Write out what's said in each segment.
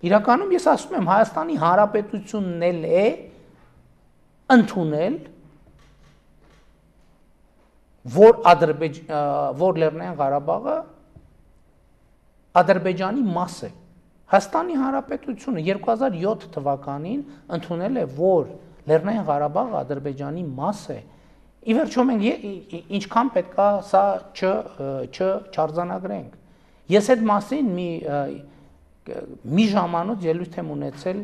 Իրականում ես ասում եմ Հայաստանի Հանրապետությունն էլ է ընդունել, որ Լեռնային Ղարաբաղը Ադրբեջանի մաս է։ Հայաստանի Հանրապետությունը 2007 թվականին ընդունել է, որ Լեռնային Ղարաբաղը Ադրբեջանի մաս է։ Ի վերջո մենք ինչքան պետք է սա չարձանագրենք։ Ես այդ մասին մի ժամանոց ելույթ եմ ունեցել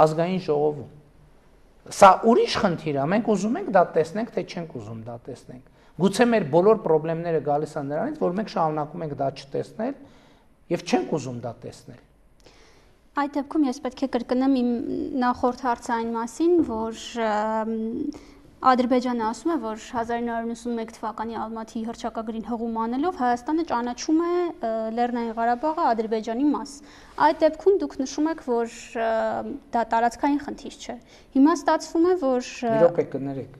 ազգային ժողովում։ Սա ուրիշ խնդիր է, մենք ուզում ենք դա տեսնենք, թե չենք ուզում դա տեսնենք։ Գուցե մեր բոլոր խնդիրները գալիս են նրանից, որ մենք շարունակում ենք դա չտեսնել եւ չենք ուզում դա տեսնել։ Այդ դեպքում ես պետք է կրկնեմ իմ նախորդ հարցային մասին, որ Ադրբեջանը ասում է, որ 1991 թվականի Ալմաթիի հռչակագրին հղում անելով Հայաստանը ճանաչում է Լեռնային Ղարաբաղը Ադրբեջանի մաս։ Այդ դեպքում դուք նշում եք, որ դա տարածքային խնդիր չէ։ Հիմա ստացվում է, որ Իրոք է կներեք։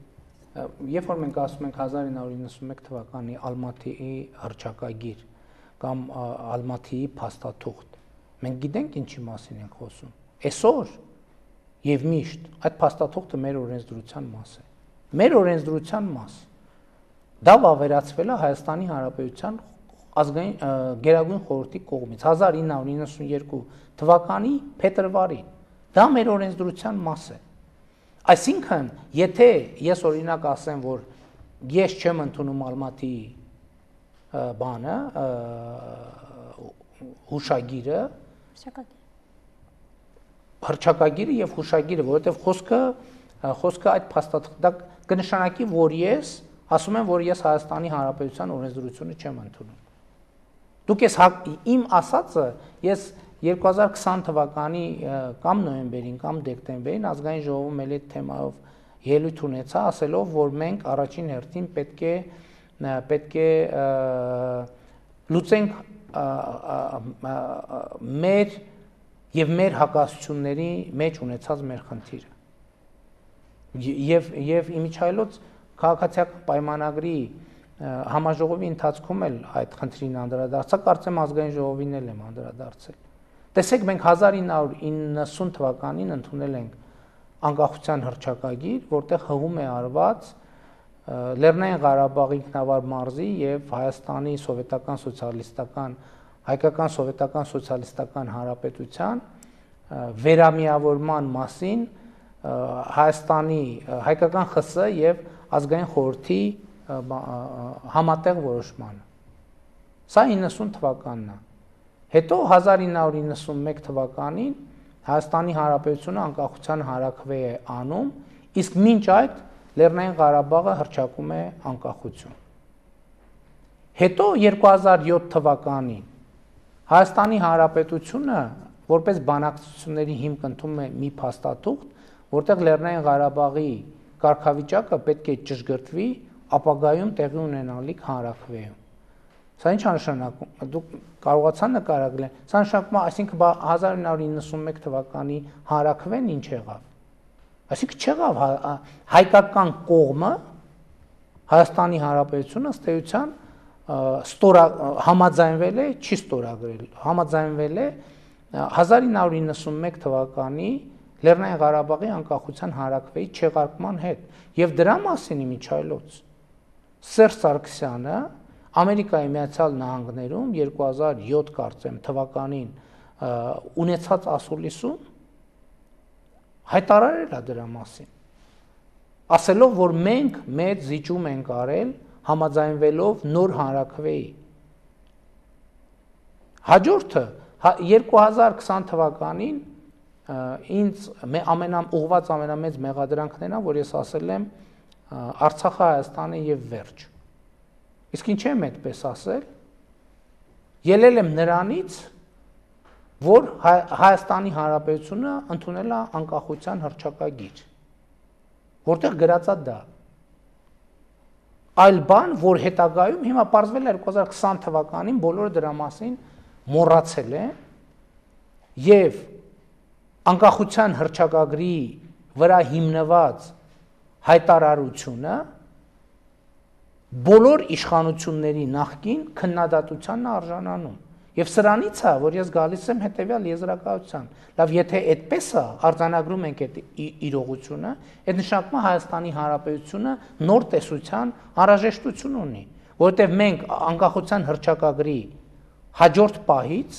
Երբ որ մենք ասում ենք 1991 թվականի Ալմաթիի հռչակագիր կամ Ալմաթիի փաստաթուղթ, մենք գիտենք ինչի մասին ենք խոսում։ Այսօր եւ միշտ այդ փաստաթուղթը մեր օրենսդրության մաս է։ Մեր օրենսդրության մաս։ Դա վավերացվել է Հայաստանի Հանրապետության ազգային գերագույն խորհրդի կողմից 1992 թվականի փետրվարին։ Դա մեր օրենսդրության մաս է։ Այսինքն, եթե ես օրինակ ասեմ, որ ես չեմ ընդունում Ալմաթիի բանը, հուշագիրը, հռչակագիրը եւ հուշագիրը, որովհետեւ խոսքը այդ փաստաթղթը կնշանակի, որ ես ասում եմ, որ ես Հայաստանի Հանրապետության օրենսդրությունը չեմ ընդունում։ Դուք իմ ասածը ես 2020 թվականի կամ նոյեմբերին կամ դեկտեմբերին ազգային ժողովում էլ այդ թեմայով ելույթ ունեցա, ասելով, որ մենք առաջին հերթին պետք է լուծենք մեր հակասությունների մեջ ունեցած մեր խնդիրը։ Եվ իմիջայլոց քաղաքացիական պայմանագրի համաժողովի ընթացքում էլ այդ խնդրին անդրադարձա, կարծեմ ազգային ժողովին էլ եմ անդրադարձել։ Տեսեք, մենք 1990 թվականին ընդունել ենք անկախության հռչակագիր, որտեղ հղում է արված Լեռնային Ղարաբաղի ինքնավար մարզի եւ Հայաստանի սովետական սոցիալիստական հայկական սովետական սոցիալիստական հանրապետության վերամիավորման մասին Հայաստանի հայկական ԽՍՀ եւ ազգային խորհրդի համատեղ որոշմանը։ Սա 90 թվականն է։ Հետո 1991 թվականին Հայաստանի Հանրապետությունը անկախության հանրաքվե է անում, իսկ մինչ այդ Լեռնային Ղարաբաղը հռչակում է անկախություն։ Հետո 2007 թվականին Հայաստանի Հանրապետությունը որպես բանակցությունների հիմք ընդունում է մի փաստաթուղթ, որտեղ Լեռնային Ղարաբաղի կարգավիճակը պետք է ճշգրտվի ապագայում տեղի ունենալիք հանրաքվեում։ Սա ինչ է նշանակում։ Դուք կարողացան նկարագրել։ Սա նշանակում է, այսինքն 1991 թվականի հանրաքվեն ինչ եղավ։ Այսինքն չեղավ հայկական կողմը Հայաստանի Հանրապետությունը ըստ էության համաձայնվել է, չի ստորագրել, համաձայնվել է 1991 թվականի Լեռնային Ղարաբաղի անկախության հանրաքվեի չեղարկման հետ։ Եվ դրա մասին իմիջայլոց Սերժ Սարգսյանը Ամերիկայի Միացյալ Նահանգներում 2007 կարծեմ թվականին ունեցած ասուլիսում հայտարարել է դրա մասին, ասելով, որ մենք մեծ զիջում ենք արել համաձայնվելով նոր հանրաքվեի։ Հաջորդը 2020 թվականին ինձ ուղղված ամենամեծ մեղադրանքներն են, որ ես ասել եմ Արցախը Հայաստանը եւ վերջ։ Իսկ ինչ եմ այդպես ասել։ Ելել եմ նրանից, որ Հայաստանի Հանրապետությունը ընդունել է անկախության հռչակագիր, որտեղ գրած է դա։ Այլ բան, որ հետագայում հիմա պարզվել է 2020 թվականին բոլորը դրա մասին մոռացել են եւ անկախության հռչակագրի վրա հիմնված հայտարարությունը բոլոր իշխանությունների նախկին քննադատությանն արժանանում։ Եվ սրանից է, որ ես գալիս եմ հետևյալ եզրակացության։ Լավ, եթե այդպես է, արձանագրում ենք այդ իրողությունը, այդ նշանակում է Հայաստանի Հանրապետությունը նոր տեսության անհրաժեշտություն ունի, որովհետև մենք անկախության հռչակագրի հաջորդ պահից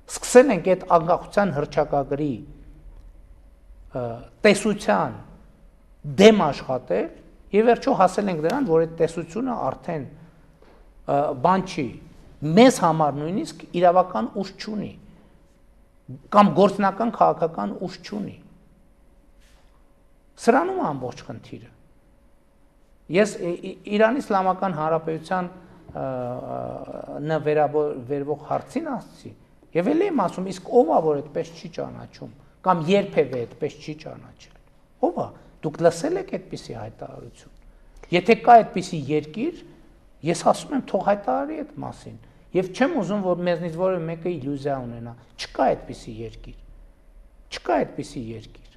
սկսել ենք այդ անկախության հռչակագրի տեսության դեմ աշխատել եւ վերջո հասել ենք դրան, որ այդ տեսությունը արդեն բան չի, մեզ համար նույնիսկ իրավական ուժ չունի կամ գործնական քաղաքական ուժ չունի։ Սրանում է ամբողջ խնդիրը։ Ես Իրանի Իսլամական Հանրապետության վերաբերվող հարցին ասացի եւ էլ եմ ասում, իսկ ով է որ այդպես չի ճանաչում կամ երբևէ այդպես չի ճանաչել։ Ով է։ Դուք լսել եք այդպիսի հայտարարություն։ Եթե կա այդպիսի երկիր, ես ասում եմ թող հայտարարի այդ մասին։ Եվ չեմ ուզում, որ մեզնից որևէ մեկը իլյուզիա ունենա։ Չկա այդպիսի երկիր։ Չկա այդպիսի երկիր։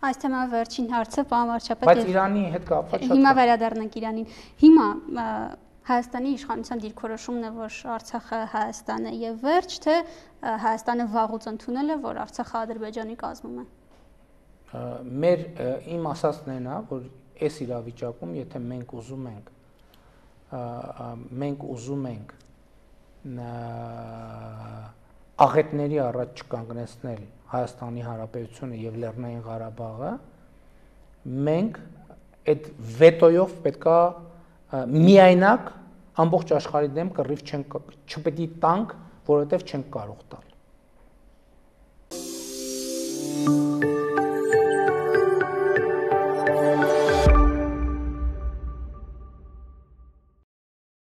Այս թեմա վերջին հարցը, պարոն վարչապետ։ Բայց Իրանի հետ կապված շատ։ Հիմա վերադառնանք Իրանին։ Հիմա Հայաստանի իշխանության դիրքորոշումն է, որ Արցախը Հայաստան է եւ վերջ, թե Հայաստանը վաղուց ընդունել է, որ Արցախը Ադրբեջանի կազմում է։ Իմ ասածն է, որ այս իրավիճակում, եթե մենք ուզում ենք աղետների առաջ չկանգնեցնել Հայաստանի Հանրապետությունը եւ Լեռնային Ղարաբաղը, մենք այդ վետոյով պետքա միայնակ ամբողջ աշխարհի դեմ կռիվ չպետք է տանք, որովհետեւ չենք կարող տալ։